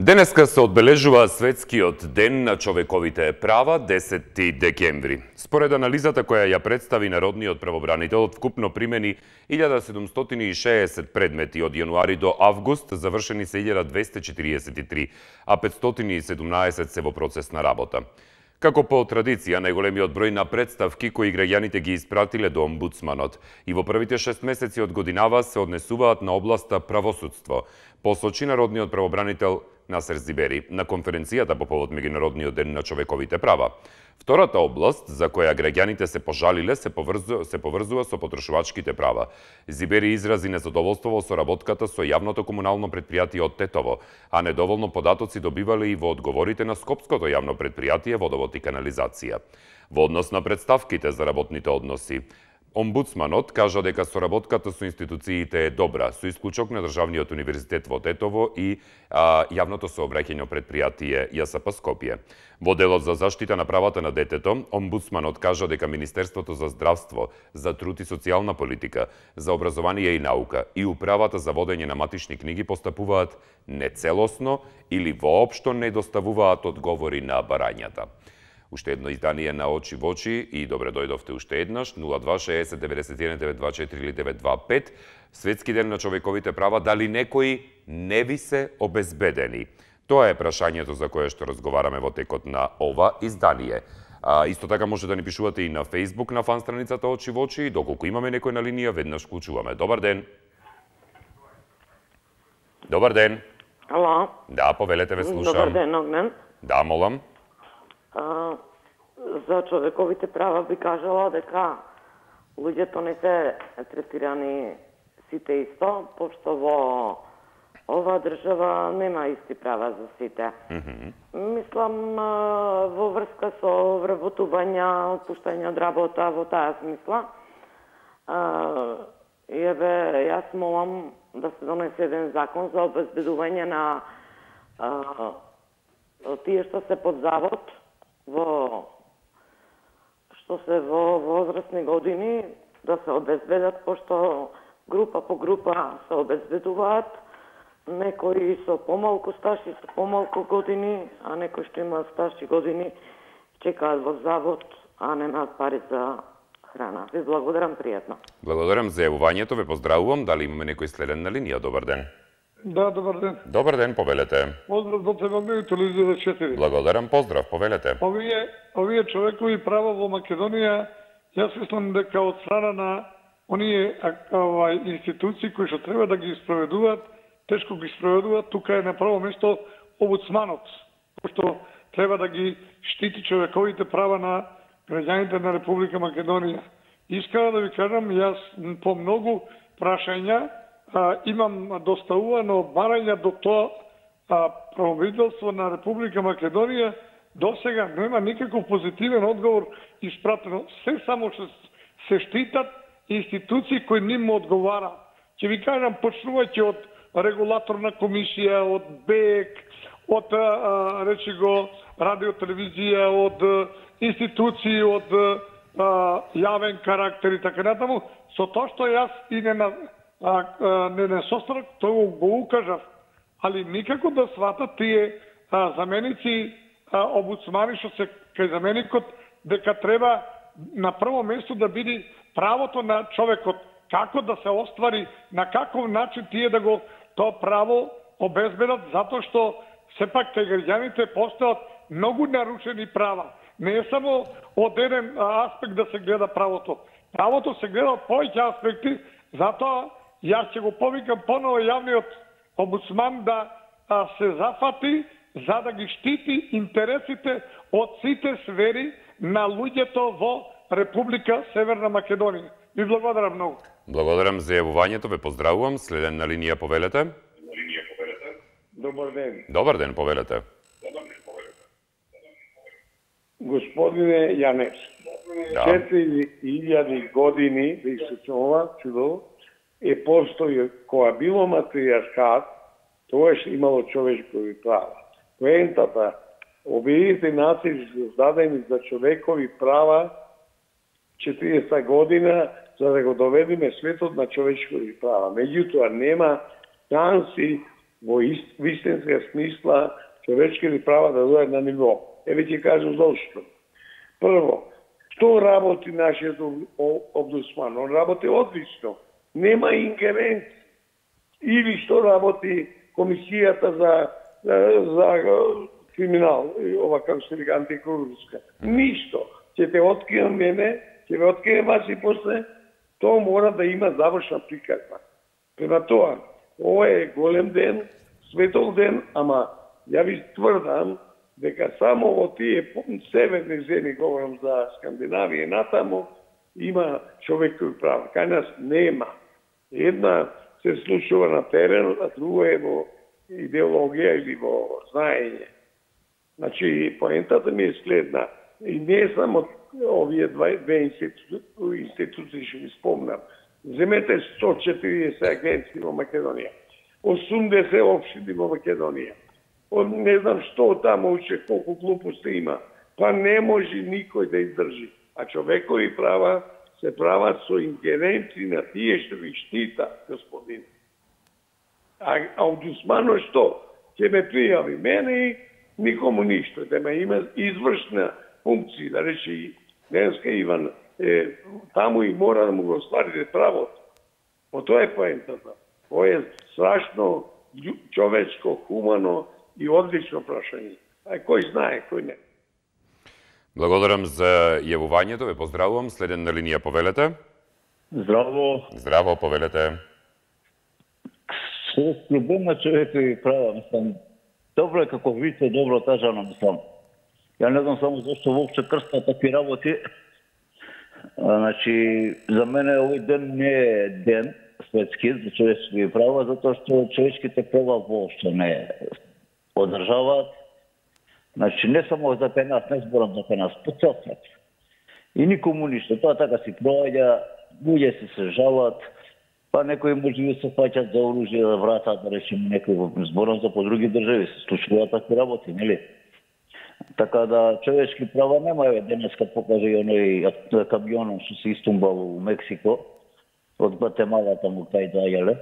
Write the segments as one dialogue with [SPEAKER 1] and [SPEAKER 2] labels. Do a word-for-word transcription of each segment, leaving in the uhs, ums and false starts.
[SPEAKER 1] Денеска се одбележува Светскиот ден на човековите права, десети декември. Според анализата која ја представи Народниот правобранител, вкупно примени илјада седумстотини и шеесет предмети од јануари до август, завршени се илјада двесте четириесет и три, а петстотини и седумнаесет се во процес на работа. Како по традиција, најголемиот број на представки кои граѓаните ги испратиле до омбудсманот и во првите шест месеци од годинава се однесуваат на областа правосудство, посочи Народниот правобранител Насер Зибери на конференцијата по повод Меѓународниот ден на човековите права. Втората област за која граѓаните се пожалиле се поврзува, се поврзува со потрошувачките права. Зибери изрази незадоволство во соработката со јавното комунално претпријатие од Тетово, а недоволно податоци добивале и во одговорите на Скопското јавно претпријатие Водовод и канализација. Во однос на представките за работните односи, омбудсманот кажа дека соработката со институциите е добра, со исклучок на Државниот универзитет во Тетово и а, јавното сообраќајно претпријатие ЈСП Скопје. Во делот за заштита на правата на детето, омбудсманот кажа дека Министерството за здравство, за труд и социјална политика, за образование и наука и управата за водење на матични книги постапуваат нецелосно или воопшто не доставуваат одговори на барањата. Уште едно издание на Очи во очи и добре дојдовте уште еднаш, нула два шеесет деветдесет и еден деветстотини дваесет и четири или деветстотини дваесет и пет. Светски ден на човековите права, дали некои не ви се обезбедени? Тоа е прашањето за кое што разговараме во текот на ова издание. А, исто така може да ни пишувате и на Facebook на фан страницата Очи во очи. Доколку имаме некој на линија, веднаш вклучуваме. Добар ден. Добар ден.
[SPEAKER 2] Ало.
[SPEAKER 1] Да, повелете, ве слушам.
[SPEAKER 2] Добар ден, Огнен.
[SPEAKER 1] Да, молам.
[SPEAKER 2] А, за човековите права би кажала дека луѓето не се третирани сите исто, пошто во оваа држава нема исти права за сите. Mm -hmm. Мислам во врска со вработување, отпуштање од работа, во таа смисла. А, еве, јас молам да се донесе еден закон за обезбедување на а, тие што се под завод, во што се во возрастни години, да се обезбедат, пошто група по група се обезбедуваат, некои со помалку стаж и со помалку години, а некои што имаат стаж и години чекаат во завод, а немаат пари за храна. Ви благодарам, пријатно.
[SPEAKER 1] Благодарам за јавувањето, ве поздравувам. Дали имаме некој следен на линија? Добар ден.
[SPEAKER 3] Да, добар ден.
[SPEAKER 1] Добар ден, повелете.
[SPEAKER 3] Поздрав до Телевизија телевизија четири.
[SPEAKER 1] Благодарам, поздрав, повелете.
[SPEAKER 3] Овие, овие човекови права во Македонија, јас мислам дека од страна на оние овај институции кои што треба да ги спроведуваат, тешко ги спроведуваат. Тука е на прво место омбудсманот, пошто треба да ги штити човековите права на граѓаните на Република Македонија. Искам да ви кажам, јас по многу прашања А, имам доставувано барања до тоа а, правобранителство на Република Македонија, до сега нема никаков позитивен одговор испратено. Се само што се штитат институции кои ним одговара. Ќе ви кажам, почнувајќи од регулаторна комисија, од БЕК, од а, речи го радио телевизија, од институции, од а, јавен карактер и така натаму. Со тоа што јас и не на А, а, не не состанок, тоа го укажав, али никако да сватат тие а, заменици а, омбудсмани што се кај заменикот, дека треба на прво место да биде правото на човекот, како да се оствари, на каков начин тие да го тоа право обезбедат, затоа што сепак кај граѓаните постојат многу нарушени права. Не е само од еден аспект да се гледа правото. Правото се гледа од повеќе аспекти, затоа јас ќе го повикам поново јавниот омбудсман да а, се зафати за да ги штити интересите од сите сфери на луѓето во Република Северна Македонија. Ви благодарам многу.
[SPEAKER 1] Благодарам за јавувањето, ве поздравувам. Следен на линија, повелете.
[SPEAKER 4] Добар ден.
[SPEAKER 1] Добар ден, повелете.
[SPEAKER 4] Господине Јанец,
[SPEAKER 1] Да.
[SPEAKER 4] четири илјади години да исечува чудо е постои која било матријархат, тоа што имало човечкови права. Поентата, Обединените нации се создадени за човекови права четириесета година за да го доведеме светот на човечкови права. Меѓутоа нема шанси во вистинска смисла човечките права да дојдат на ниво. Еве ќе кажам зошто. Прво, што работи нашиот омбудсман? Он работи одлично. Нема ингеренци. Или што работи комисијата за, за, за криминал, ова како се вика антикорупска. Ништо. Ќе те открием мене, ќе ве открием вас и после, тоа мора да има завршна приказна. Према тоа, ова е голем ден, светол ден, ама ја ви тврдам дека само во тие северни земји, говорам за Скандинавија и натаму, има човекови права. Кај нас нема. Една се случува на терен, а друга е во идеологија или во знаење. Значи, поентата ми е следна. И не само овие две институции што ви спомнам. Земете сто и четириесет агенции во Македонија. осумдесет општини во Македонија. Не знам што таму уче, колку глупости има. Па не може никој да издржи. А човекови права се прават со ингеренци на тие што ви штита, господин. А омбудсманот што? Ќе ме пријави мене и никому ништо. Да ме има извршна функција, да рече денеска Иван, е, таму и мора да му го остварите правото. По тоа е поентата. Тоа е страшно човечко, хумано и одлично прашање. А кој знае, кој не.
[SPEAKER 1] Благодарам за јавувањето, ве поздравувам. Следен на линија, повелете.
[SPEAKER 5] Здраво.
[SPEAKER 1] Здраво, повелете.
[SPEAKER 5] Светски ден на човекови права, мислам, добро е како видите, добро кажано, мислам. Ја не знам само зашто воопшто крстат такви работи. А, значи, за мене овој ден не е ден светски за човечки права, затоа што човечките права воопшто не одржаваат. Значи, не само за кај нас, не зборам за кај нас, по цел свет. И никому ништо. Тоа така си проаѓа, луѓе се се жалат, па некои може да се фаќат за оружје да вратат, да речеме некои, зборам за по други држави, се случуваат такви работи, нели? Така да човечки права нема, еве денеска покаже и оној камионом што се истумбал у Мексико, од Гватемала таму кај доаѓале.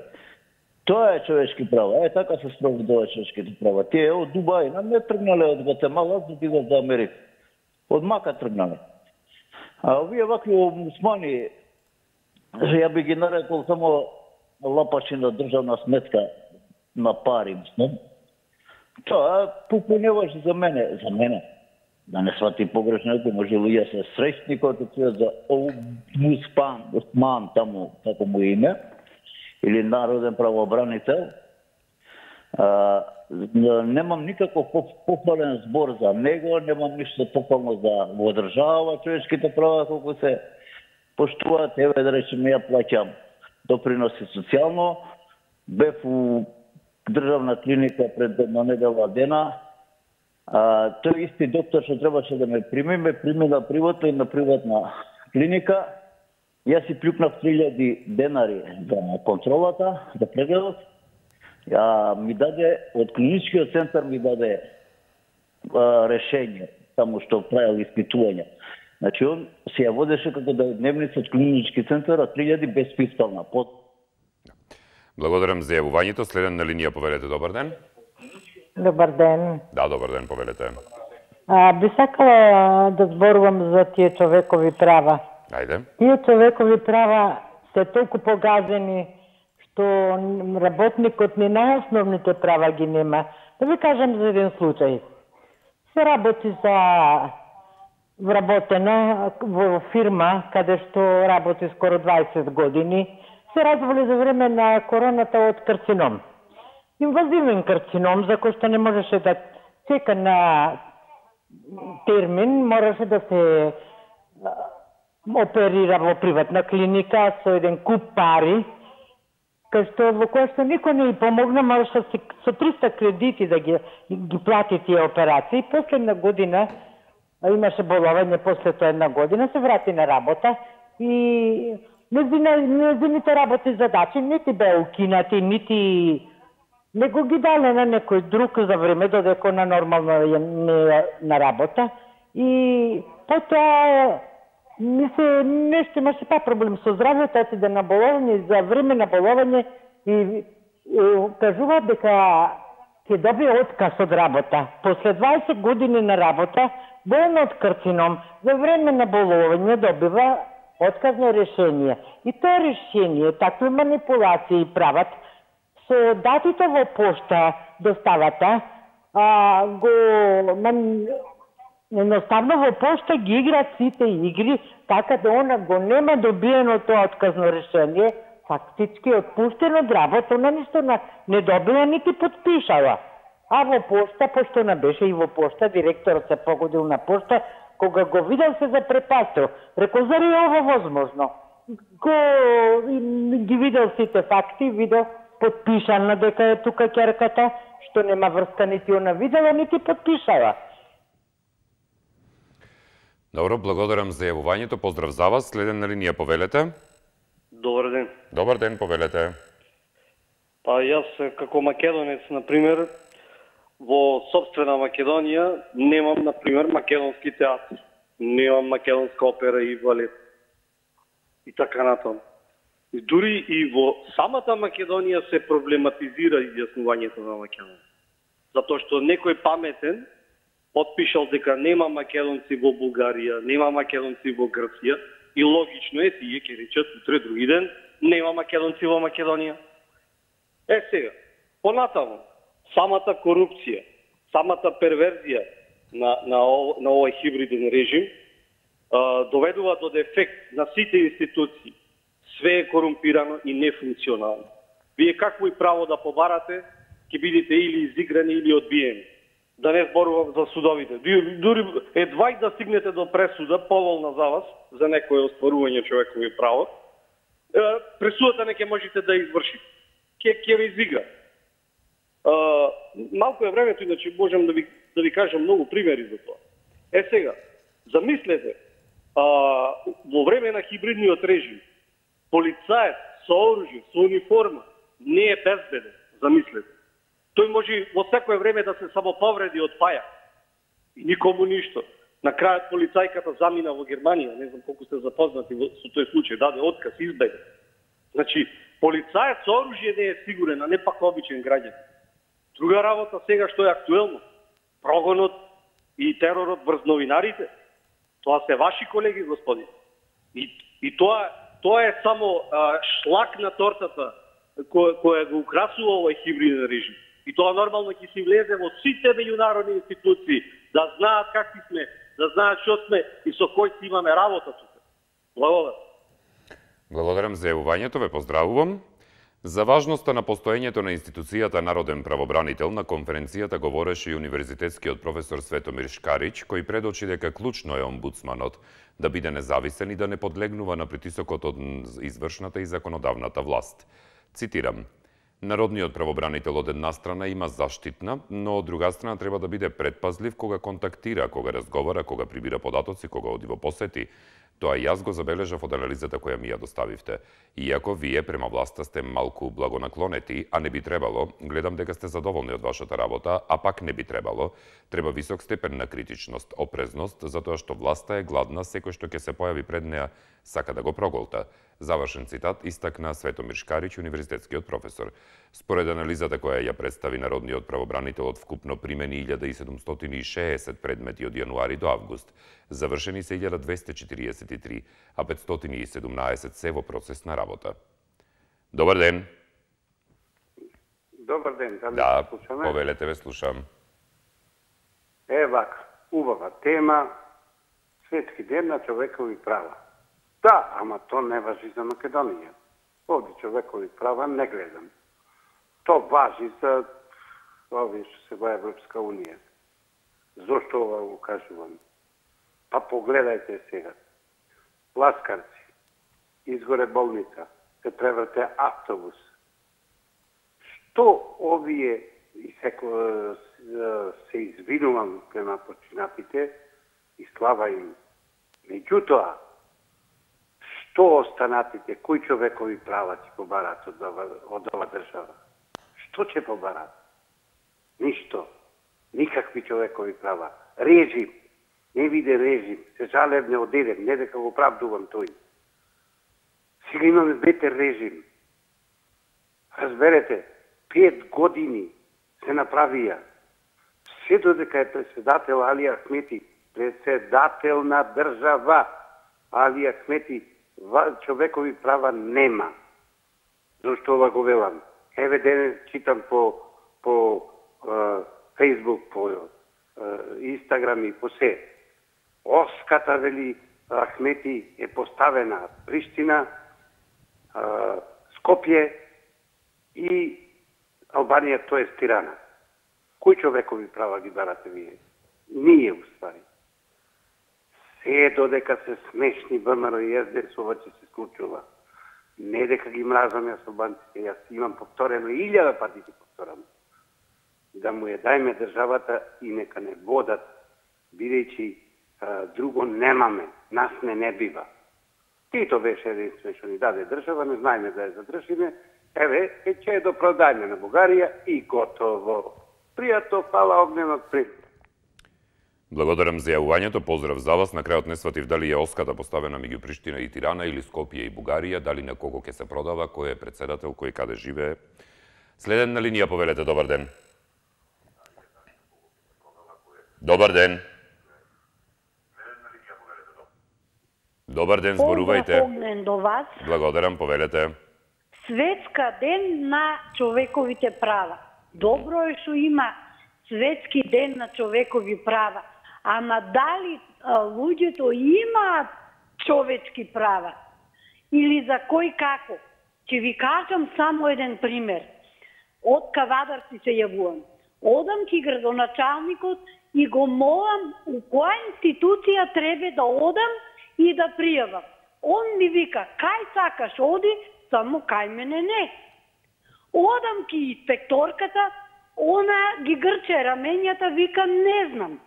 [SPEAKER 5] Тоа е човечки права. Е, така се спроведува човечките права. Тие од Дубај, нам не тргнале од Гватемала, за да идат за Америка. Од Мака тргнале. А овие вакви омбудсмани, ја би ги нарекол само лапачи на државна сметка на пари, мислам. Тоа попуневаш за мене, за мене. Да не свати погрешно, ако може луѓе се среќни кои чујат за омбудсман, омбудсман таму како му име, или народен правобранител. А, немам никаков похвален збор за него, немам ништо похвално за во држава, човечките права колку се поштуваат. Еве да речеме, ја плаќам доприноси социјално, бев у државна клиника пред една недела дена. А, тој исти доктор што требаше да ме прими, ме прими на приватна и на приватна клиника. Јас си плюкнав три илјади денари за контролата, за прегледот. Ја ми даде, од клиничкиот центар ми даде а, решение, само што правил испитување. Значи, он се ја водеше како да е дневница од клинички центар, а три илјади без фискална. Под...
[SPEAKER 1] Благодарам за јавувањето. Следен на линија, повелете, добар ден.
[SPEAKER 6] Добар ден.
[SPEAKER 1] Да, добар ден, повелете.
[SPEAKER 6] А, би сакала да зборувам за тие човекови права.
[SPEAKER 1] Ајде.
[SPEAKER 6] Тие човекови права се толку погазени што работникот ни најосновните права ги нема. Да ви кажам за еден случај. Се работи за вработена во фирма каде што работи скоро дваесет години. Се разволи за време на короната од карцином. Инвазивен карцином, за кој што не можеше да чека на термин, мораше да се оперира во приватна клиника со еден куп пари, кај што во која што никој не ја помогна, мораше со триста кредити да ги, ги плати тие операции. Последна година имаше боловање, после тоа една година се врати на работа и неziните работи задачи нити беа укинати, нити него ги дале на некој друг за време додека на нормално не на работа. И потоа ми се нешто имаше па проблем со здравјето, отиде на боловање, за време на боловање и кажуваат дека ќе добие отказ од работа. После дваесет години на работа, болен од карцином, за време на болување добива отказно решение. И тоа решение, такви манипулации прават, со датите во пошта доставата, а, го ман... едноставно во пошта ги играат сите игри, така да она го нема добиено тоа отказно решение, фактички отпуштено од работа, она ништо не добила нити подпишала. А во пошта, пошто не беше и во пошта, директорот се погодил на пошта, кога го видел се запрепастил. Рекол, зари е ова возможно? Го ги видел сите факти, видел подпишана дека е тука ќерката, што нема врска нити она видела, нити подпишала.
[SPEAKER 1] Добро, благодарам за јавувањето. Поздрав за вас. Следен на линија, повелете.
[SPEAKER 7] Добар ден.
[SPEAKER 1] Добар ден, повелете.
[SPEAKER 7] Па јас како македонец, например, во собствена Македонија немам, например, македонски театар. Немам македонска опера и балет. И така натаму. И дури и во самата Македонија се проблематизира изјаснувањето на Македонија. Затоа што некој паметен подпишал дека нема македонци во Бугарија, нема македонци во Грција и логично е тие ќе речат утре други ден нема македонци во Македонија. Е сега, понатаму, самата корупција, самата перверзија на, на, на овој хибриден режим а, доведува до дефект на сите институции. Све е корумпирано и нефункционално. Вие какво и право да побарате, ќе бидете или изиграни или одбиени. Да не зборувам за судовите. Дури едва и да стигнете до пресуда, поволна за вас, за некој оспорување човекови право, пресудата не ќе можете да извршите. Ке, ке ви изигра. А, малко е времето, иначе можем да ви, да ви кажам многу примери за тоа. Е сега, замислете, а, во време на хибридниот режим, полицаец со оружје, со униформа, не е безбеден, замислете. Тој може во секое време да се самоповреди од паја. И никому ништо. На крајот полицајката замина во Германија, не знам колку сте запознати со тој случај, даде отказ, избега. Значи, полицаец со оружје не е сигурен, а не пак обичен граѓан. Друга работа сега што е актуелно, прогонот и теророт врз новинарите, тоа се ваши колеги, господи. И, и тоа, тоа е само а, шлак на тортата која, која го украсува овој хибриден режим. И тоа нормално ќе си влезе во сите меѓународни институции, да знаат какви сме, да знаат што сме и со кој си имаме работа тука. Благодарам.
[SPEAKER 1] Благодарам за јавувањето, ве поздравувам. За важноста на постоењето на институцијата Народен правобранител на конференцијата говореше и универзитетскиот професор Светомир Шкарич, кој предочи дека клучно е омбудсманот да биде независен и да не подлегнува на притисокот од извршната и законодавната власт. Цитирам: Народниот правобранител од една страна има заштитна, но од друга страна треба да биде предпазлив кога контактира, кога разговара, кога прибира податоци, кога оди во посети. Тоа јас го забележав од анализата која ми ја доставивте. Иако вие према власта сте малку благонаклонети, а не би требало, гледам дека сте задоволни од вашата работа, а пак не би требало. Треба висок степен на критичност, опрезност, затоа што власта е гладна, секој што ќе се појави пред неа сака да го проголта. Завршен цитат истакна Светомир Шкарич, универзитетскиот професор. Според анализата која ја представи Народниот правобранител, од вкупно примени илјада седумстотини и шеесет предмети од јануари до август, завршени се илјада двесте четириесет и три, а петстотини и седумнаесет се во процес на работа. Добар ден.
[SPEAKER 8] Добар ден, да,
[SPEAKER 1] да
[SPEAKER 8] слушаме?
[SPEAKER 1] Повелете, ве слушам.
[SPEAKER 8] Е, вака, убава тема, Светски ден на човекови права. Да, ама то не важи за Македонија. Овде човекови права не гледам. То важи за овие што се во Европска Унија. Зошто ова го кажувам? Па погледајте сега. Ласкарци, изгоре болница, се преврте автобус. Што овие, и секо се извинувам према починатите, и слава им. Меѓутоа, што останатите, кои човекови права ќе побарат од ова, од ова држава? Што ќе побарат? Ништо. Никакви човекови права. Режим. Не виде режим. Се жалев, не одедем. Не дека го правдувам тој. Сега имаме бетер режим. Разберете, Пет години се направија. Се додека е председател Али Ахмети, председател на држава, Али Ахмети, човекови права нема. Зошто ова го велам? Еве денес читам по по Фейсбук, по Инстаграм и по се. Оската, вели Ахмети, е поставена Приштина, Скопје и Албанија, тоа е Тирана. Кои човекови права ги барате вие? Ние, уствари. Се додека се смешни ВМРО и ес-де-ес, ова ќе се случува. Не дека ги мразам јас албанците, јас имам повторено, илјада пати ги повторам. Да му ја дајме државата и нека не водат, бидејќи друго немаме, нас не не бива. Тито беше единствен што ни даде држава, не знаеме да ја задржиме, еве, е че ја допродајме на Бугарија и готово. Пријатно, фала огненот пред.
[SPEAKER 1] Благодарам за јавувањето, поздрав за вас. На крајот не сватив дали е оската поставена меѓу Приштина и Тирана или Скопје и Бугарија, дали на кого ќе се продава, кој е председател, кој каде живее. Следен на линија, повелете, добар ден. Добар ден. Добар ден, зборувајте.
[SPEAKER 9] Поздрав до вас.
[SPEAKER 1] Благодарам, повелете.
[SPEAKER 9] Светска ден на човековите права. Добро е што има Светски ден на човекови права, ама дали а, луѓето имаат човечки права? Или за кој како? Ќе ви кажам само еден пример. Од Кавадарци се јавувам. Одам ки градоначалникот и го молам у која институција треба да одам и да пријавам. Он ми вика, кај сакаш оди, само кај мене не. Одам ки инспекторката, она ги грче раменјата, вика, не знам.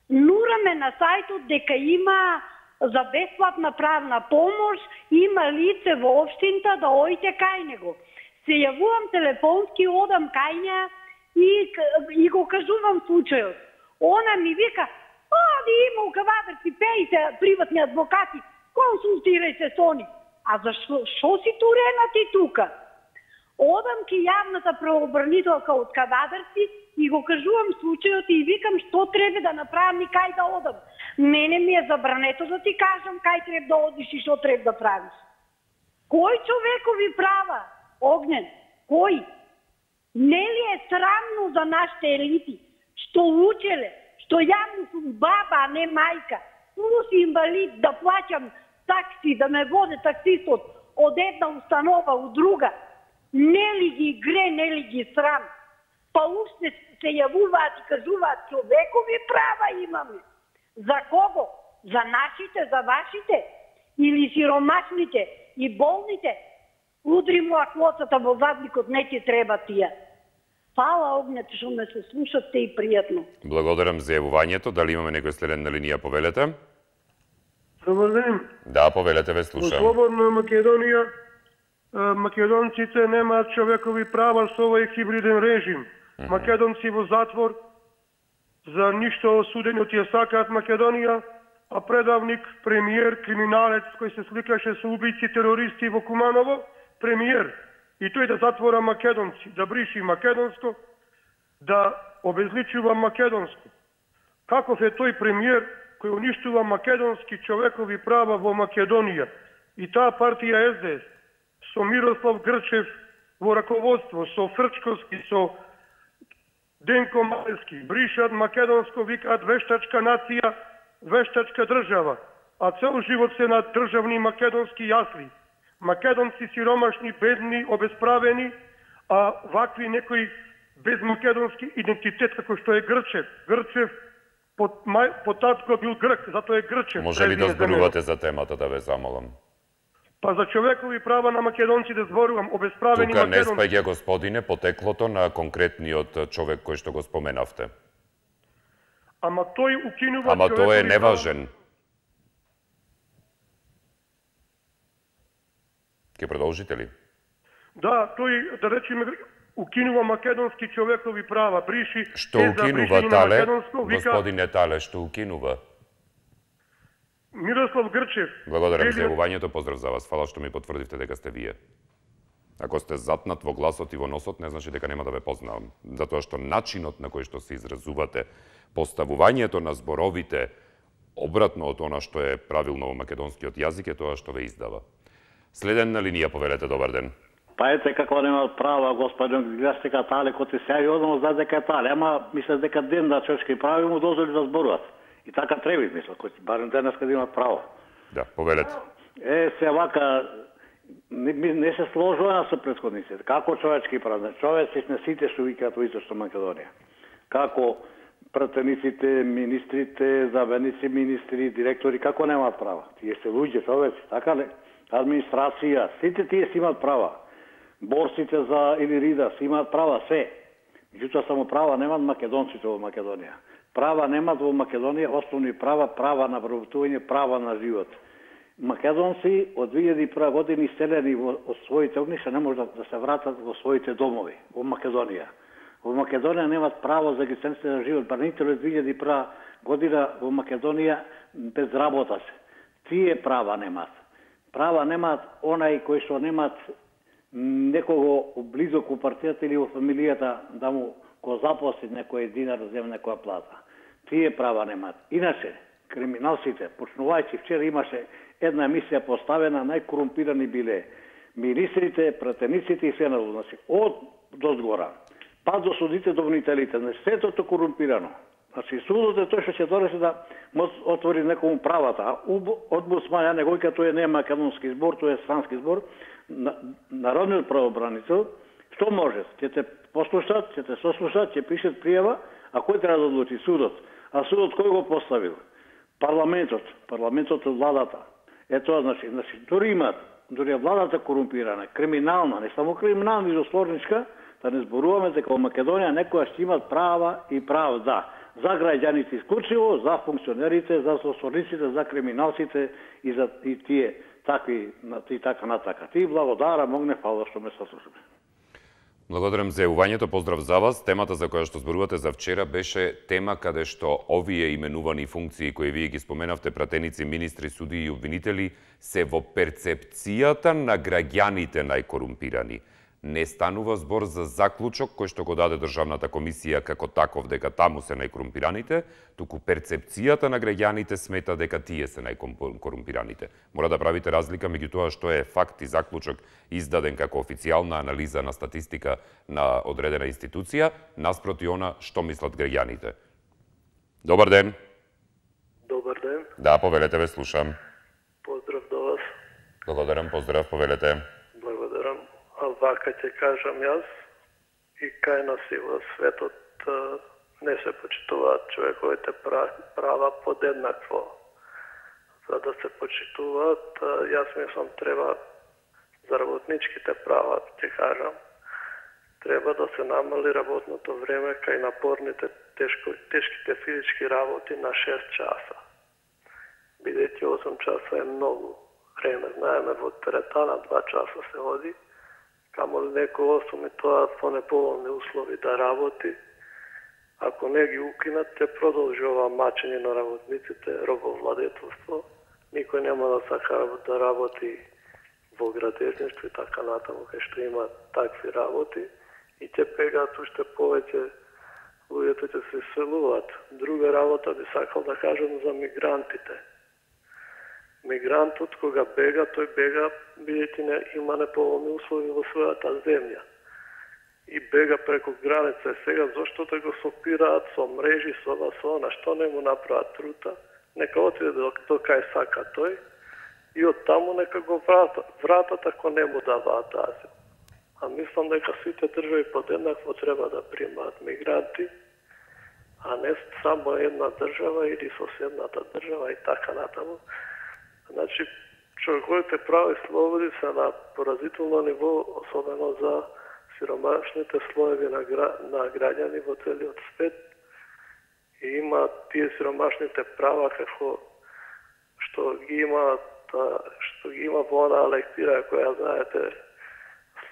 [SPEAKER 9] Нураме на сајтот дека има за бесплатна правна помош, има лице во општината да ојте кај него. Се јавувам телефонски, одам кај неа и, и го кажувам случајот. Она ми вика, оди има у Кавадарци, пејте приватни адвокати, консултирајте со они. А зашо шо си турена ти тука? Одам ки јавната правобранителка од Кавадарци и го кажувам случајот и викам што треба да направам и кај да одам. Мене ми е забрането да ти кажам кај треба да одиш и што треба да правиш. Кој човекови права, Огнен? Кој? Нели е срамно за нашите елити, што учеле, што јавно сум баба, а не мајка, плюс инвалид, да плаќам такси, да ме воде таксистот од една установа у друга? Нели ги гре, нели ги срам? Па уште се јавуваат и кажуваат човекови права имаме. За кого? За нашите, за вашите? Или сиромашните и болните? Удри му аклоцата во задникот, не ти треба тија. Фала, Огнет, што ме се слушате и пријатно.
[SPEAKER 1] Благодарам за јавувањето. Дали имаме некој следен на линија, повелете?
[SPEAKER 10] Добар ден.
[SPEAKER 1] Да, повелете, ве слушам.
[SPEAKER 10] Во слободна Македонија македонците немаат човекови права со овој хибриден режим. Mm -hmm. Македонци во затвор за ништо осудени од тие сакаат Македонија, а предавник, премиер, криминалец кој се сликаше со убици терористи во Куманово, премиер, и тој да затвора македонци, да бриши македонско, да обезличува македонско. Каков е тој премиер кој уништува македонски човекови права во Македонија? И таа партија ес-де-ес со Мирослав Грчев во раководство, со Фрчковски, со Денко Малески, бришат македонско, викаат вештачка нација, вештачка држава, а цел живот се на државни македонски јасли. Македонци сиромашни, бедни, обесправени, а вакви некои без македонски идентитет, како што е Грчев. Грчев по, мај, по татко бил грк, затоа е Грчев.
[SPEAKER 1] Може ли да зборувате за темата, да ве замолам?
[SPEAKER 10] Па за човекови права на македонци да зборувам, обесправени
[SPEAKER 1] Тука
[SPEAKER 10] македонци.
[SPEAKER 1] Тука не спаѓа, господине, потеклото на конкретниот човек кој што го споменавте.
[SPEAKER 10] Ама тој укинува
[SPEAKER 1] Ама тоа е неважен. Ке продолжите ли?
[SPEAKER 10] Да, тој, да речеме, укинува македонски човекови права, бриши...
[SPEAKER 1] Што укинува, Тале? Господине Тале, што укинува?
[SPEAKER 10] Мирослав Грчев.
[SPEAKER 1] Благодарам за јавувањето, поздрав за вас. Фала што ми потврдивте дека сте вие. Ако сте затнат во гласот и во носот, не значи дека нема да ве познавам. Затоа што начинот на кој што се изразувате, поставувањето на зборовите, обратно од она што е правилно во македонскиот јазик, е тоа што ве издава. Следен на линија, повелете, добар ден.
[SPEAKER 11] Па ете како нема права, господин Гластека Тале, кој се сеја одно за дека Тале, ама мислам дека ден на човечки прави му дозволи да зборуваат. И така треба, мислам, кој барем денес каде имаат право.
[SPEAKER 1] Да, повелете.
[SPEAKER 11] Е, се вака не, не се сложува со претходниците. Како човечки права? Човеци сме сите што викаат во Источна Македонија. Како пратениците, министрите, заменици министри, директори, како немаат права? Тие се луѓе, човеци, така ли? Администрација, сите тие си имаат права. Борците за Илирида си имаат права, се. Меѓутоа само права немаат македонците во Македонија. Права немаат во Македонија, основни права, права на вработување, права на живот. Македонци од две илјади и прва година иселени од своите огништа не може да се вратат во своите домови, во Македонија. Во Македонија немаат право за екзистенција на живот. Барнителите од две илјади и прва година во Македонија без работа се. Тие права немаат. Права немаат онај кој што немаат некого близо ко партијата или во фамилијата да му го запосли некој динар да земе некоја плата. Тие права немаат. Иначе, криминалците, почнувајќи вчера имаше една емисија поставена, најкорумпирани биле министрите, пратениците и се на значи, од до згора, па до судите, до обвинителите, значи сето корумпирано. Значи судот е тој што ќе донесе да може отвори некому правата, а омбудсман, ја него дека тој не е македонски збор, тој е странски збор, народниот правобранител, што може? Ќе те послушат, ќе те сослушат, ќе пишат пријава, а кој треба да одлучи? Судот. А судот кој го поставил? Парламентот, парламентот од владата. Е тоа значи, значи дури имат, дури е владата корумпирана, криминална, не само криминална, и сложничка, да не зборуваме дека во Македонија некоја ќе имат права и правда. За граѓаните исклучиво, за функционерите, за сослорниците, за криминалците и за и тие такви и така натака. Ти благодарам, могне фала што ме саслушаме.
[SPEAKER 1] Благодарам за јавувањето, поздрав за вас. Темата за која што зборувате за вчера беше тема каде што овие именувани функции кои вие ги споменавте, пратеници, министри, судии и обвинители, се во перцепцијата на граѓаните најкорумпирани. Не станува збор за заклучок кој што го даде Државната комисија како таков дека таму се најкорумпираните, туку перцепцијата на граѓаните смета дека тие се најкорумпираните. Мора да правите разлика меѓу тоа што е факт и заклучок издаден како официјална анализа на статистика на одредена институција, наспроти она што мислат граѓаните. Добар ден.
[SPEAKER 12] Добар ден.
[SPEAKER 1] Да, повелете, ве слушам.
[SPEAKER 12] Поздрав до вас.
[SPEAKER 1] Благодарам, поздрав, повелете.
[SPEAKER 12] Благодарам. А вака ќе кажам јас, и кај нас и во светот не се почитуваат човековите права подеднакво. За да се почитуваат, јас мислам треба за работничките права, ќе кажам, треба да се намали работното време кај напорните тешко, тешките физички работи на шест часа. Бидејќи осум часа е многу време, знаеме во теретана два часа се ходи, камо ли некој осум и тоа по неповолни услови да работи. Ако не ги укинат, ќе продолжи ова мачење на работниците, робовладетелство. Никој нема да сака да работи во градежништво и така натаму, кај што има такви работи, и ќе бегаат уште повеќе, луѓето ќе се иселуваат. Друга работа би сакал да кажам за мигрантите. Мигрантот кога бега, тој бега бидејќи не има неповолни услови во својата земја. И бега преку граница. Сега зошто да го сопираат со мрежи, со ова, со она, што не му направат трута, нека отиде до, до кај сака тој и од таму нека го вратат, вратат ако не му даваат азил. А мислам дека сите држави подеднакво треба да примаат мигранти, а не само една држава или соседната држава и така натаму. Значи, човековите права и слободи се на поразително ниво, особено за сиромашните слоеви на, гра... на граѓани во целиот свет. И има тие сиромашните права како што ги има што ги има во она лектира која знаете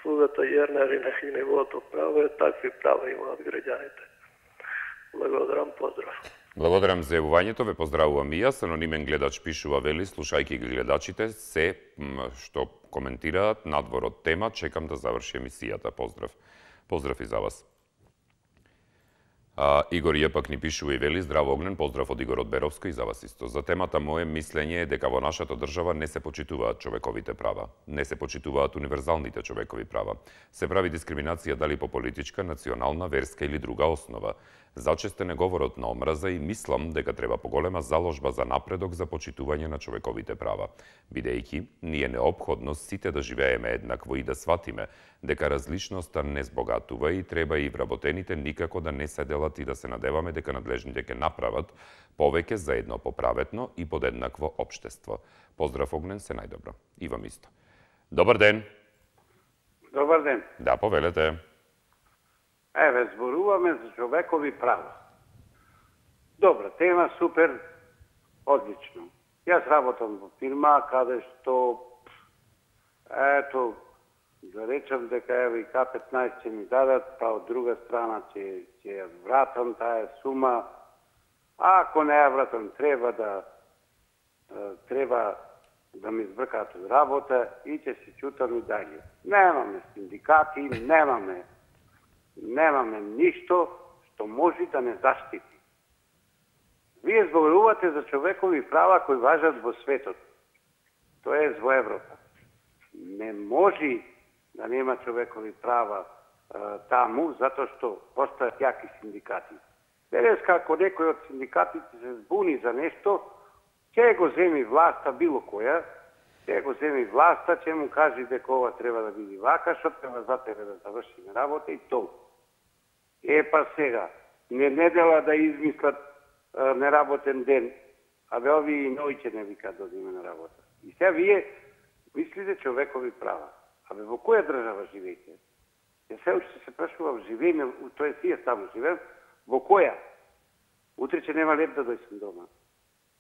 [SPEAKER 12] слугата Јернер и на нивото право е, такви права имаат граѓаните. Благодарам, поздрав.
[SPEAKER 1] Благодарам за јавувањето, ве поздравувам и јас. Анонимен гледач пишува, вели, слушајќи ги гледачите, се што коментираат надвор од тема, чекам да заврши емисијата. Поздрав. Поздрав и за вас. А, Игор Јепак ни пишува и вели, здраво Огнен, поздрав од Игор од Беровско и за вас исто. За темата моје мислење е дека во нашата држава не се почитуваат човековите права, не се почитуваат универзалните човекови права. Се прави дискриминација дали по политичка, национална, верска или друга основа. Зачестен е говорот на омраза и мислам дека треба поголема заложба за напредок за почитување на човековите права, бидејќи ни е неопходно сите да живееме еднакво и да сватиме дека различноста не збогатува и треба и вработените никако да не седелат и да се надеваме дека надлежните ќе направат повеќе за едно поправетно и подеднакво општество. Поздрав Огнен, се најдобро. И вам исто. Добар ден.
[SPEAKER 8] Добар ден.
[SPEAKER 1] Да, повелете.
[SPEAKER 8] Еве, зборуваме за човекови права. Добра тема, супер, одлично. Јас работам во фирма, каде што, ето, да речам дека еве и К петнаесет ќе ми дадат, па од друга страна ќе ќе вратам таа сума. А ако не ја вратам, треба да треба да ми избркаат од работа и ќе се чутам и далje. Немаме синдикати, немаме немаме ништо што може да не заштити. Вие зборувате за човекови права кои важат во светот, тоа е во Европа. Не може да нема човекови права а, таму, затоа што постојат јаки синдикати. Денеска, ако некој од синдикатите се збуни за нешто, ќе го земи власта, било која, ќе го земи власта, ќе му каже дека ова треба да биде вака, што треба за тебе да завршиме работа и толку. Е, па сега, не недела да измислат а, неработен ден, а бе ови и ноќе не викаат да одиме на работа. И сега вие мислите човекови права. А бе, во која држава живеете? Ја се уште се прашувам, живееме, тоа е си ја само живеем, во која? Утре ќе нема леп да дојсам дома.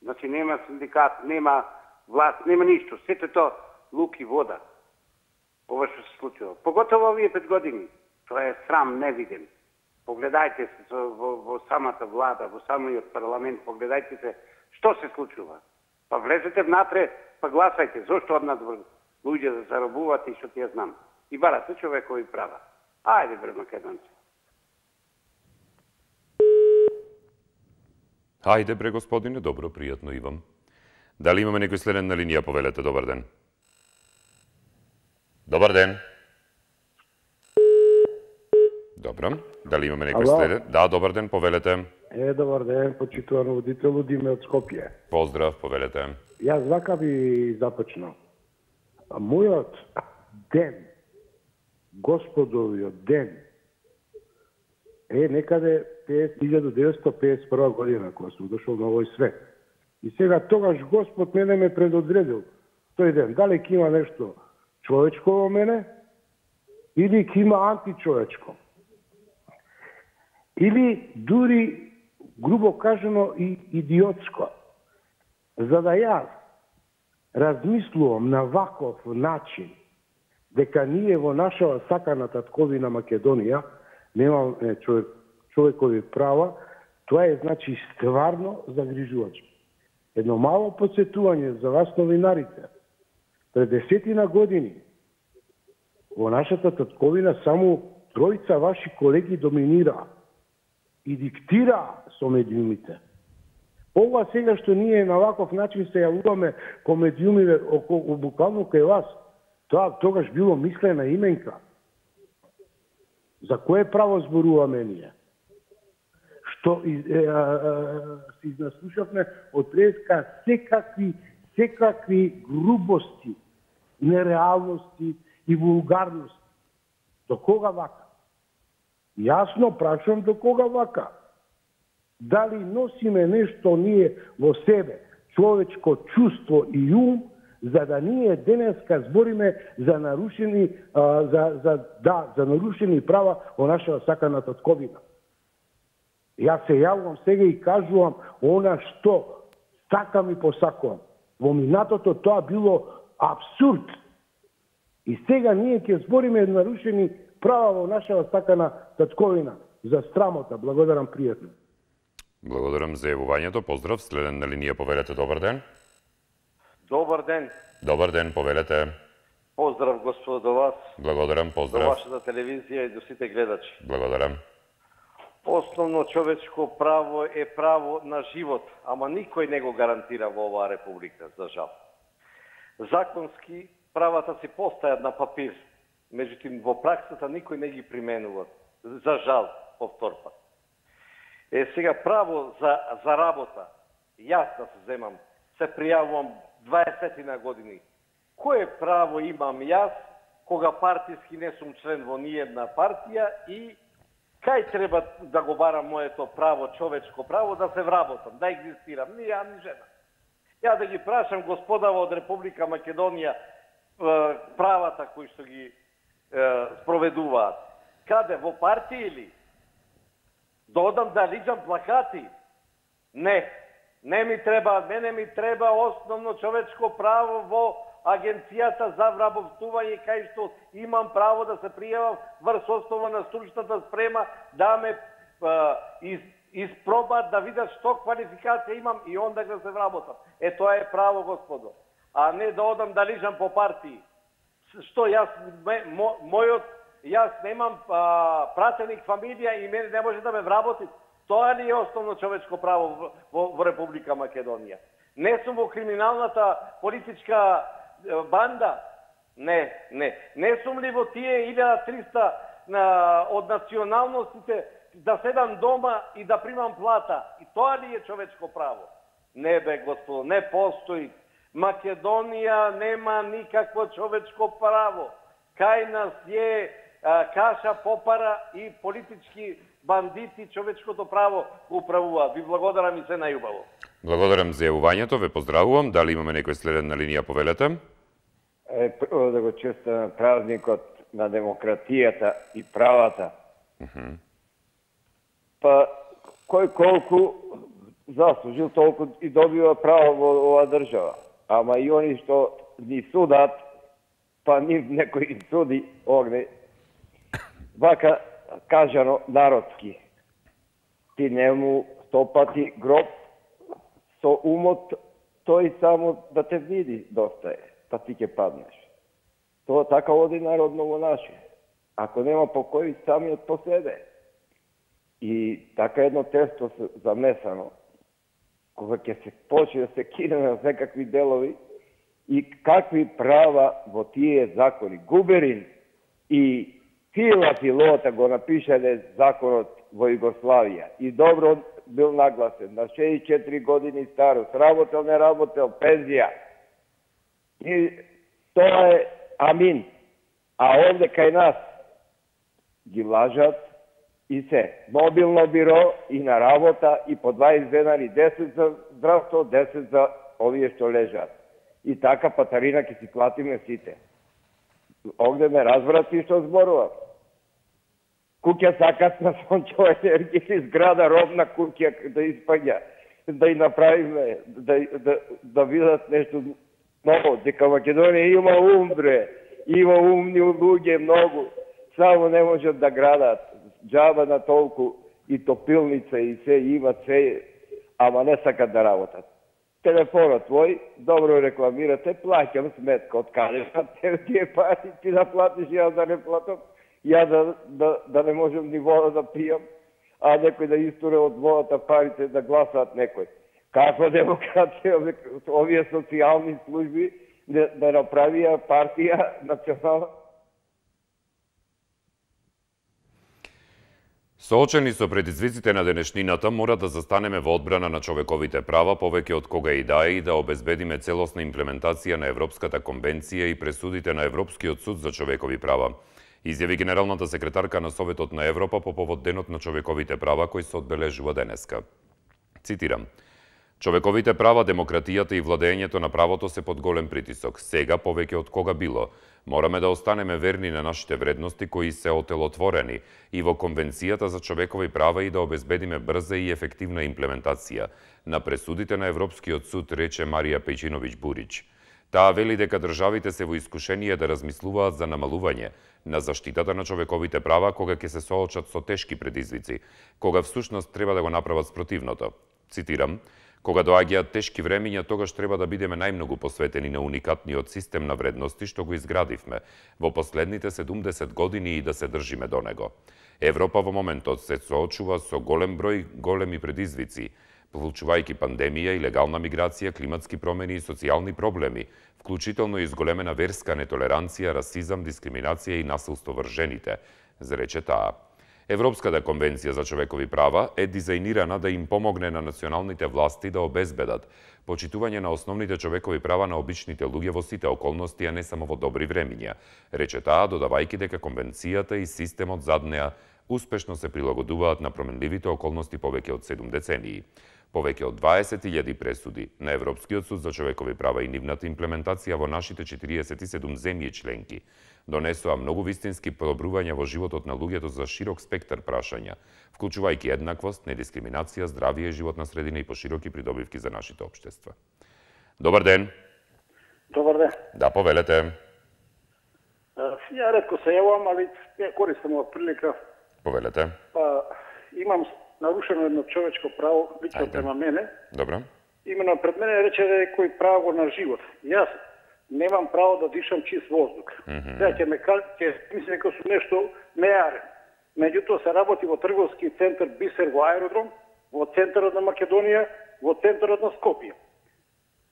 [SPEAKER 8] Значи нема синдикат, нема власт, нема ништо. Сето тоа лук и вода. Ова што се случува. Поготово овие пет години. Тоа е срам невиден. Погледајте се во, во самата влада, во самиот парламент, погледајте се што се случува. Па влезете внатре, па гласајте. Зошто однадвор луѓе да заробувате и што ти ја знам. И барате човекови права. Ајде бре македонци.
[SPEAKER 1] Ајде бре господине, добро, пријатно и вам. Дали имаме некој следен на линија, повелете, добар ден. Добар ден. Добро. Дали имаме некој следен? Да, добар ден, повелете.
[SPEAKER 13] Е, добар ден, почитуван водител Диме од Скопје.
[SPEAKER 1] Поздрав, повелете.
[SPEAKER 13] Јас вака би започнал. Мојот ден, господовиот ден, е некаде илјада деветстотини педесет и прва година, кога сум дошол на овој свет. И сега тогаш Господ мене ме предодредил тој ден. Дали ќе има нешто човечко во мене, или ќе има античовечко. Или дури, грубо кажано, и идиотско. За да јас размислувам на ваков начин дека ние во нашава сакана татковина Македонија немаме човек, човекови права, тоа е, значи, стварно загрижувачко. Едно мало подсетување за вас новинарите. Пред десетина години во нашата татковина само тројца ваши колеги доминираа и диктираа со медиумите. Ова сега што ние на ваков начин се јавуваме по медиумиве околу буквално кај вас, тоа тогаш било мислена именка. За кое право зборуваме ние? Што се изнаслушавме од преска секакви, секакви грубости, нереалности и вулгарности. До кога вака? Јасно прашувам до кога вака. Дали носиме нешто ние во себе, човечко чувство и ум, за да ние денеска збориме за нарушени а, за за да за нарушени права во нашата сакана татковина. Јас се јавувам сега и кажувам она што сакам и посакувам. Во минатото тоа било абсурд. И сега ние ќе збориме нарушени права во нашата сакана татковина. За срамота. Благодарам, пријатно.
[SPEAKER 1] Благодарам за јавувањето. Поздрав. Следен на линија, повелете. Добар ден.
[SPEAKER 14] Добар ден.
[SPEAKER 1] Добар ден, повелете.
[SPEAKER 14] Поздрав, господо, до вас.
[SPEAKER 1] Благодарам, поздрав.
[SPEAKER 14] До вашата телевизија и до сите гледачи.
[SPEAKER 1] Благодарам.
[SPEAKER 14] Основно човечко право е право на живот, ама никој не го гарантира во оваа република, за жал. Законски правата си постојат на папир, меѓутоа во праксата никој не ги применува, за жал, повтор пат. Е, сега право за, за работа, јас да се земам, се пријавувам дваесет на години. Кое право имам јас, кога партиски не сум член во ниедна партија и кај треба да го барам моето право, човечко право, да се вработам, да екзистирам, ни ја, ни жена. Ја да ги прашам господава од Република Македонија правата кои што ги е, спроведуваат. Каде, во партија или? Да одам да лиѓам плакати? Не. Не ми треба, мене ми треба основно човечко право во Агенцијата за вработување, кај што имам право да се пријавам врз основа на стручната спрема, да ме а, из, испробат, да видат што квалификација имам и онда да се вработам. Е, тоа е право, господо. А не да одам да лижам по партии. Што јас, мо, мојот, јас немам а, пратеник, фамилија и мене не може да ме вработи. Тоа ли е основно човечко право во, во, во Република Македонија? Не сум во криминалната политичка банда? Не, не. Не сум ли во тие илјада и триста на, од националностите да седам дома и да примам плата? И тоа ли е човечко право? Не бе, господо, не постои. Македонија нема никакво човечко право. Кај нас е а, каша, попара и политички бандити човечкото право го управуваат. Ви благодарам и се најубаво.
[SPEAKER 1] Благодарам за јавувањето, ве поздравувам. Дали имаме некој следен на линија, повелете?
[SPEAKER 15] Е, прво да го честам празникот на демократијата и правата.
[SPEAKER 1] Uh -huh.
[SPEAKER 15] Па, кој колку заслужил, толку и добива право во оваа држава. Ама и они што ни судат, па нив некој им суди, огне, вака кажано народски. Ти не му стопати гроб со умот, тој само да те види доста е, па ти ќе паднеш. Тоа така оди народно во наше. Ако нема покој, самиот поседе. И така едно тесто замесано, кога ќе се почне да се кине на секакви делови и какви права во тие закони. Губерин и Фила Филота го напишале законот во Југославија и добро бил нагласен, на шеесет и четири години старост, работел, не работел, пензија. И тоа е амин. А овде кај нас ги лажат и се. Мобилно биро и на работа и по дваесет денари, десет за здравство, десет за овие што лежат. И така патарина ќе си платиме сите. Овде ме разбрати што зборувам. Куќа сакат на сончева енергија или зграда робна куќа да испаѓа, да и направиме, да, да, да видат нешто ново, дека Македонија има ум, бре, има умни луѓе многу, само не можат да градат, џаба на толку и топилница и се, имат се, ама не сакат да работат. Телефонот твој, добро рекламирате, плаќам сметка, од каде те тие пари, ти да платиш, јас да не платам, ја да, да, да не можем ни вода да пијам, а некој да истуре од водата парите да гласаат некој. Каква демократија, овие социјални служби да, да направија партија национална?
[SPEAKER 1] Соочени со предизвиците на денешнината, мора да застанеме во одбрана на човековите права повеќе од кога и да е и да обезбедиме целосна имплементација на Европската конвенција и пресудите на Европскиот суд за човекови права. Изјави генералната секретарка на Советот на Европа по повод Денот на човековите права кој се одбележува денеска. Цитирам: "Човековите права, демократијата и владењето на правото се под голем притисок. Сега повеќе од кога било. Мораме да останеме верни на нашите вредности кои се отелотворени и во Конвенцијата за човекови права и да обезбедиме брза и ефективна имплементација на пресудите на Европскиот суд", рече Марија Пејчиновиќ Бурич. Таа вели дека државите се во искушение да размислуваат за намалување на заштитата на човековите права кога ќе се соочат со тешки предизвици, кога всушност треба да го направат спротивното. Цитирам: "Кога доаѓаат тешки времиња, тогаш треба да бидеме најмногу посветени на уникатниот систем на вредности што го изградивме во последните седумдесет години и да се држиме до него. Европа во моментот се соочува со голем број големи предизвици, вклучувајќи пандемија, илегална миграција, климатски промени и социјални проблеми, вклучително и зголемена верска нетолеранција, расизам, дискриминација и насилство врз жените", зарече таа. Европската конвенција за човекови права е дизајнирана да им помогне на националните власти да обезбедат почитување на основните човекови права на обичните луѓе во сите околности, а не само во добри времиња, рече таа, додавајќи дека конвенцијата и системот зад неа успешно се прилагодуваат на променливите околности повеќе од седум децении. Повеќе од дваесет илјади пресуди на Европскиот суд за човекови права и нивната имплементација во нашите четириесет и седум земји членки донесоа многу вистински подобрувања во животот на луѓето за широк спектар прашања, вклучувајќи еднаквост, недискриминација, здравје и животна средина и пошироки придобивки за нашите општества. Добар ден.
[SPEAKER 16] Добар ден.
[SPEAKER 1] Да, повелете.
[SPEAKER 16] Ја ретко се јавам, али ја користам ова прилика.
[SPEAKER 1] Повелете.
[SPEAKER 16] Па, имам нарушено едно човечко право, лично према мене.
[SPEAKER 1] Добро.
[SPEAKER 16] Именно пред мене рече некој право на живот. Јас немам право да дишам чист воздух. Сега ќе ме ќе мисли дека сум нешто неарен. Меѓутоа се работи во трговски центар Бисер во аеродром, во центарот на Македонија, во центарот на Скопје.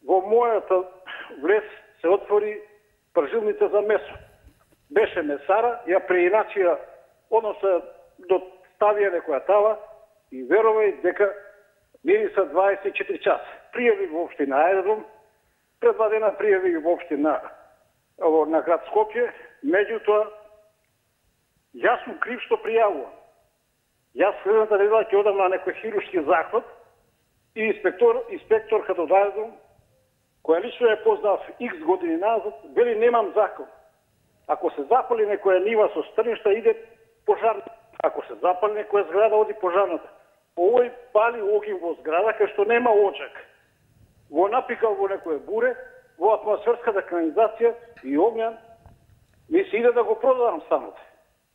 [SPEAKER 16] Во мојата влез се отвори пржилница за месо. Беше месара, ја преиначија, односно до ставија некоја тава и верувај дека мириса дваесет и четири часа. Пријави во општина аеродром, пред два дена пријави во општина на град Скопје, меѓутоа јас сум крив што пријавувам. Јас следната недела ќе одам на некој хируршки захват и инспектор, инспекторката од аеродром, која лично ја познав икс години назад, вели немам закон. Ако се запали некоја нива со стрништа, иде пожарната. Ако се запали некоја зграда, оди пожарната. Овој пали огин во зграда кај што нема очак. Го напикал во некоја буре, во атмосферската канализација и огњан ми се иде да го продадам станот.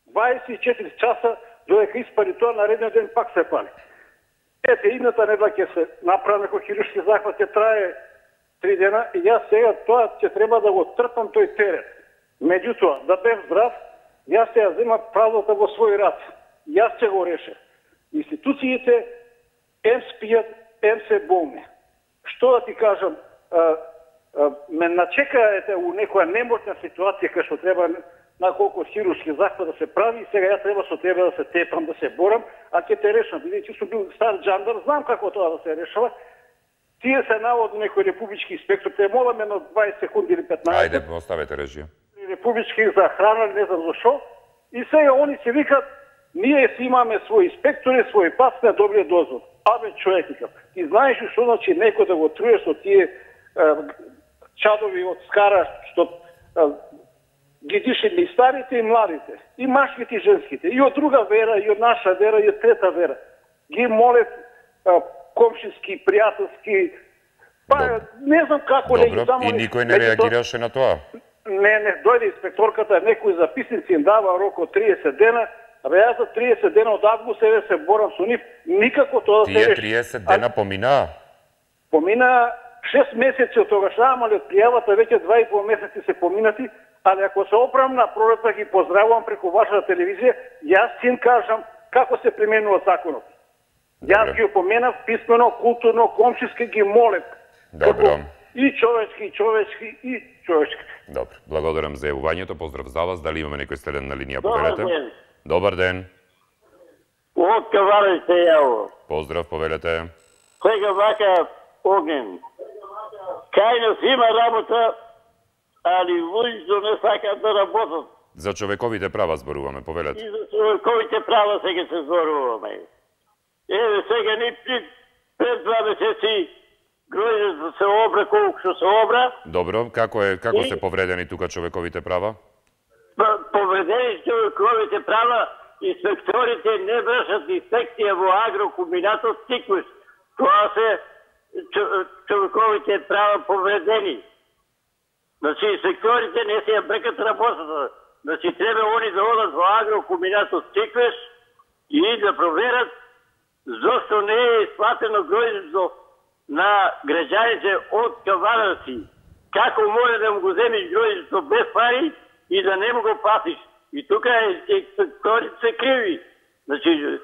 [SPEAKER 16] дваесет и четири часа додека испари тоа, наредниот ден пак се пали. Ете, идната недела ќе се направи некој хируршки захват, ќе трае три дена и јас сега тоа ќе треба да го трпам тој терет. Меѓутоа, да бев здрав, јас ќе ја земам правдата во свој рад. Јас ќе го решам. Институциите ем спијат, ем се болни. Што да ти кажам, а, а, ме начекаете у некоја неможна ситуација кај што треба наколку хируршки захват да се прави и сега ја треба со тебе да се тепам, да се борам, а ќе те решам. Бидејќи сум бил стар джандар, знам како тоа да се решава. Тие се наводно некој републички инспектор, те молам едно дваесет секунди или петнаесет.
[SPEAKER 1] Ајде, оставете режија.
[SPEAKER 16] Републички за храна, не знам зашо. И сега они се викат, ние си имаме своји инспектори, своји пат на добрия дозвол. Абе, човек, викам, ти знаеш што значи некој да го труеш со тие е, чадови од скара, што е, ги дишат и старите и младите, и машките и женските, и од друга вера, и од наша вера, и од трета вера. Ги молят е, комшински, пријателски, па Добро. Не знам како
[SPEAKER 1] Добро.
[SPEAKER 16] не ги само...
[SPEAKER 1] И никој не реагираше на тоа?
[SPEAKER 16] Не, не, дојде инспекторката, некои записници им дава рок од триесет дена, абе јас за триесет дена од август еве се борам со нив, никако тоа да се реши.
[SPEAKER 1] Тие триесет дена поминаа?
[SPEAKER 16] Помина шест месеци од тогаш, ама од пријавата веќе два и пол месеци се поминати, али ако се оправам на пролетта ги поздравувам преку вашата телевизија, јас син кажам како се применува законот. Јас ги опоменав писмено, културно, комшиски ги молев.
[SPEAKER 1] Добро.
[SPEAKER 16] И човечки, и човечки, и човечки.
[SPEAKER 1] Добро. Благодарам за јавувањето. Поздрав за вас. Дали имаме некој следен на линија?
[SPEAKER 17] Добар
[SPEAKER 1] Повелете.
[SPEAKER 17] ден.
[SPEAKER 1] Добар ден.
[SPEAKER 17] Од Кавареј се јаво.
[SPEAKER 1] Поздрав, повелете.
[SPEAKER 17] Сега вака огнен. Кај нас има работа, али луѓето не сакаат да работат.
[SPEAKER 1] За човековите права зборуваме, повелете.
[SPEAKER 17] И за човековите права сега се зборуваме. Еве сега ни пред два месеци гројдето се обра колку што се обра.
[SPEAKER 1] Добро, како е како
[SPEAKER 17] И...
[SPEAKER 1] се повредени тука човековите права?
[SPEAKER 17] Повредени човековите права, инспекторите не вршат инспекција во агрокомбинатот Тиквиш. Тоа се човековите права повредени. Значи, инспекторите не се ја брекат работата. значи треба они да одат во агрокомбинатот Тиквеш и да проверат зошто не е исплатено гројдето на граѓаните од Кавадарци. Како може да му го земиш гројдето без пари и да не му го платиш? И тука е, е, се криви. Значи,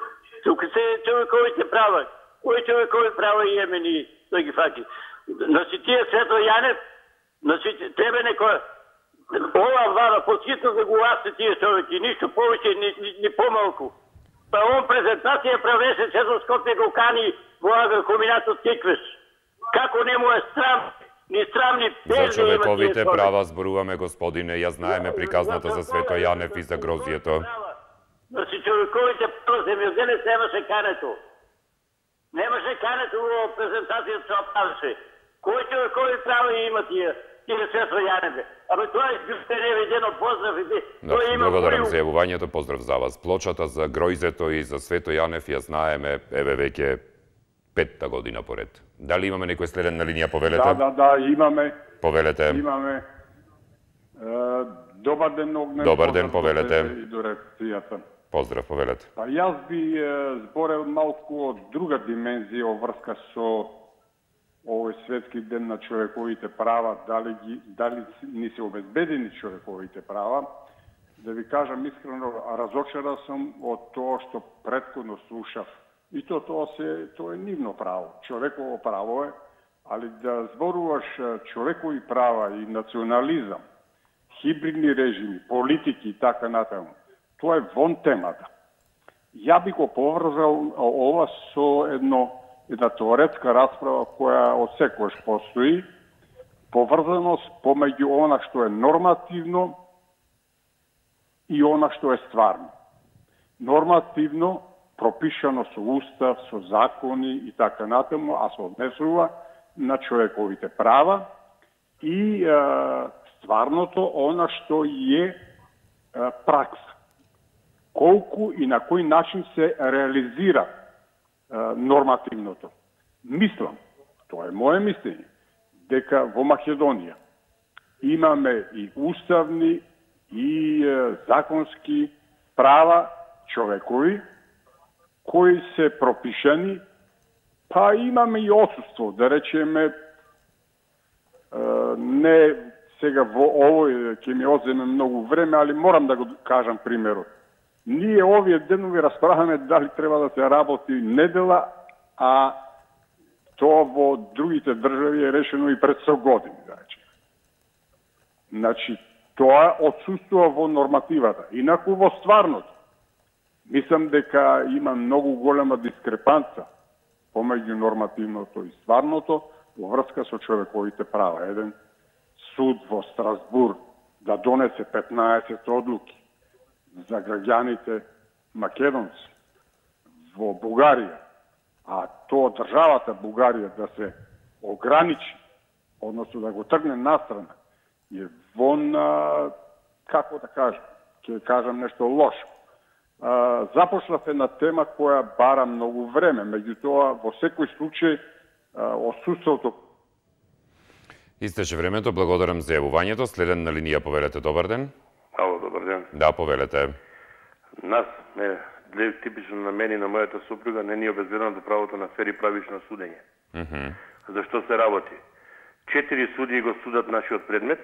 [SPEAKER 17] тука се човековите права. Кои човекови права имаме ни да ги факи? Значи, тие Свето Јанев, значи, тебе некој ова влада подхитно да го ласте тие човеки, ништо повеќе, ни, ни, ни помалку. Па он презентација правеше сето Скопје го кани во агрокомбинатот Тиквеш. Како не му е срам, ни срам, ни
[SPEAKER 1] За човековите права зборуваме, господине, ја знаеме приказната за Свето Јанев и за грозието.
[SPEAKER 17] Значи, човековите права се ми одзеле, немаше кането. Немаше кането во презентацијата се оправеше. Кој човекови права има тие? Тие Свето Јаневе. Абе, тоа е јусте невидено, поздрав и
[SPEAKER 1] да, благодарам за јавувањето, поздрав за вас. Плочата за Гројзето и за Свето Јанев ја знаеме, еве веќе петта година поред. Дали имаме некој следен на линија, повелете?
[SPEAKER 18] Да, да, да, имаме.
[SPEAKER 1] Повелете.
[SPEAKER 18] Имаме. Е, добар ден, Огнен.
[SPEAKER 1] Добар ден, повелете.
[SPEAKER 18] И до реакцијата.
[SPEAKER 1] Поздрав, повелете.
[SPEAKER 18] Па јас би е, зборел малку од друга димензија врска со овој светски ден на човековите права, дали, ги, дали ни се обезбедени човековите права. Да ви кажам искрено, разочаран сум од тоа што претходно слушав. И то тоа се тоа е нивно право, човеково право е, али да зборуваш човекови права и национализам, хибридни режими, политики и така натаму, тоа е вон темата. Ја би го поврзал ова со едно една теоретска расправа која од секојаш постои, поврзаност помеѓу она што е нормативно и она што е стварно. Нормативно пропишано со устав, со закони и така натаму, а се однесува на човековите права и е, стварното она што е, е пракса. Колку и на кој начин се реализира нормативното. Мислам, тоа е моје мислење, дека во Македонија имаме и уставни и е, законски права човекови кои се пропишани, па имаме и отсутство, да речеме, е, не сега во овој ќе ми одземе многу време, али морам да го кажам примерот. Ние овие денови расправаме дали треба да се работи недела, а тоа во другите држави е решено и пред сто години, да речеме. Значи, тоа отсуствува во нормативата. Инаку во стварното, мислам дека има многу голема дискрепанца помеѓу нормативното и стварното во врска со човековите права. Еден суд во Страсбург да донесе петнаесет одлуки за граѓаните македонци во Бугарија, а тоа државата Бугарија да се ограничи, односно да го тргне настрана, е вон, а, како да кажам, ќе кажам нешто лошо. А, започнав една тема која бара многу време, меѓутоа во секој случај отсуството.
[SPEAKER 1] Истече времето, благодарам за јавувањето. Следен на линија, повелете, добар ден.
[SPEAKER 19] Ало, добар ден.
[SPEAKER 1] Да, повелете.
[SPEAKER 19] Нас, не, типично на мене и на мојата супруга, не ни е обезбедено до правото на фер и правично судење.
[SPEAKER 1] Mm -hmm.
[SPEAKER 19] Зашто се работи? Четири судии го судат нашиот предмет,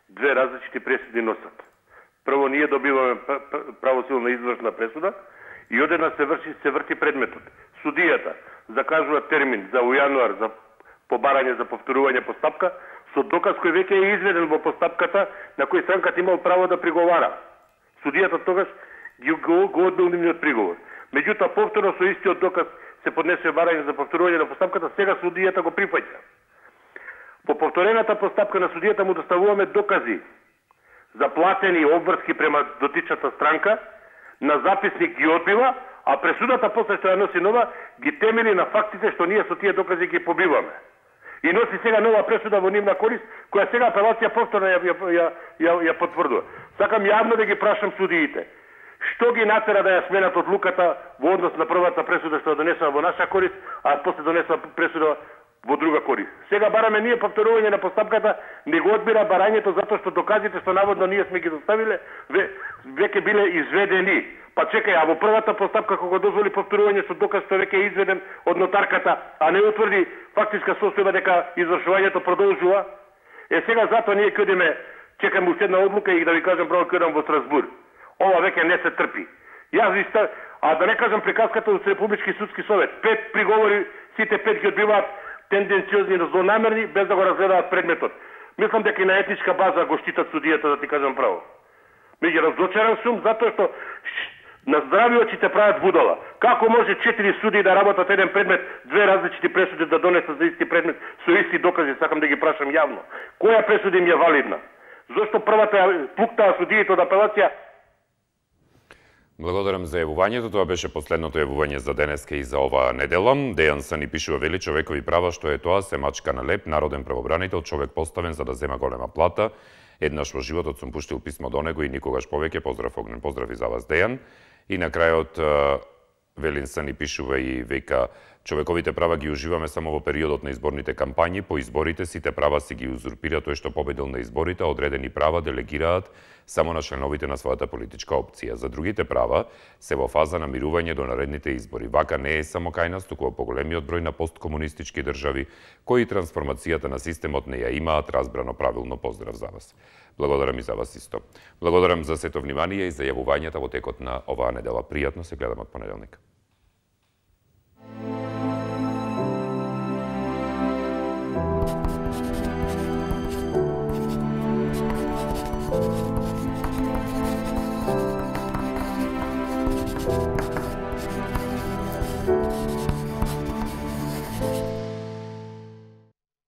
[SPEAKER 19] две различити пресуди носат. Прво, ние добиваме правосилна извршна пресуда и одеднаш се врши, се врти предметот. Судијата закажува термин за у јануар за побарање за повторување постапка, со доказ кој веќе е изведен во постапката на кој странката имал право да приговара. Судијата тогаш ги го, го одбил нивниот приговор. Меѓутоа, повторно со истиот доказ се поднесе барање за повторување на постапката, сега судијата го прифаќа. По повторената постапка на судијата му доставуваме докази за платени обврски према дотичната странка, на записник ги одбива, а пресудата после што ја носи нова ги темели на фактите што ние со тие докази ги побиваме. И носи сега нова пресуда во нивна корист, која сега апелација повторно ја, ја, ја, ја, ја потврдува. Сакам јавно да ги прашам судиите. Што ги натера да ја сменат одлуката во однос на првата пресуда што ја донесува во наша корист, а после донесува пресуда во друга корист. Сега бараме ние повторување на постапката, не го одбира барањето затоа што доказите што наводно ние сме ги доставиле ве, веќе биле изведени. Па чекај, а во првата постапка кога дозволи повторување со доказ што веќе е изведен од нотарката, а не утврди фактичка состојба дека извршувањето продолжува, е сега затоа ние ќе одиме, чекаме уште една одлука и да ви кажам право ќе одам во Страсбург. Ова веќе не се трпи. Јас иста, а да не кажам приказката од Републички судски совет. Пет приговори, сите пет ги одбиваат тенденциозни и злонамерни, без да го разгледаат предметот. Мислам дека и на етничка база го штитат судијата, да ти кажам право. Меѓу разочаран сум, затоа што на здрави очи те прават будала. Како може четири суди да работат еден предмет, две различити пресуди да донесат за исти предмет, со исти докази, сакам да ги прашам јавно. Која пресуда им е валидна? Зошто првата пуктаа судиите од апелација?
[SPEAKER 1] Благодарам за јавувањето. Тоа беше последното јавување за денеска и за оваа недела. Дејан Са ни пишува: вели човекови права, што е тоа, се мачка на леп, народен правобранител, човек поставен за да зема голема плата. Еднаш во животот сум пуштил писмо до него и никогаш повеќе. Поздрав, огнен поздрав и за вас, Дејан. И на крајот Велин Са ни пишува и века: човековите права ги уживаме само во периодот на изборните кампањи, по изборите сите права си ги узурпира тој што победил на изборите, одредени права делегираат само на членовите на својата политичка опција. За другите права се во фаза на мирување до наредните избори. Вака не е само кај нас, туку во поголемиот број на посткомунистички држави, кои трансформацијата на системот не ја имаат разбрано правилно. Поздрав за вас. Благодарам и за вас исто. Благодарам за сето внимание и за јавувањата во текот на оваа недела. Пријатно, се гледаме од понеделник. Thank you.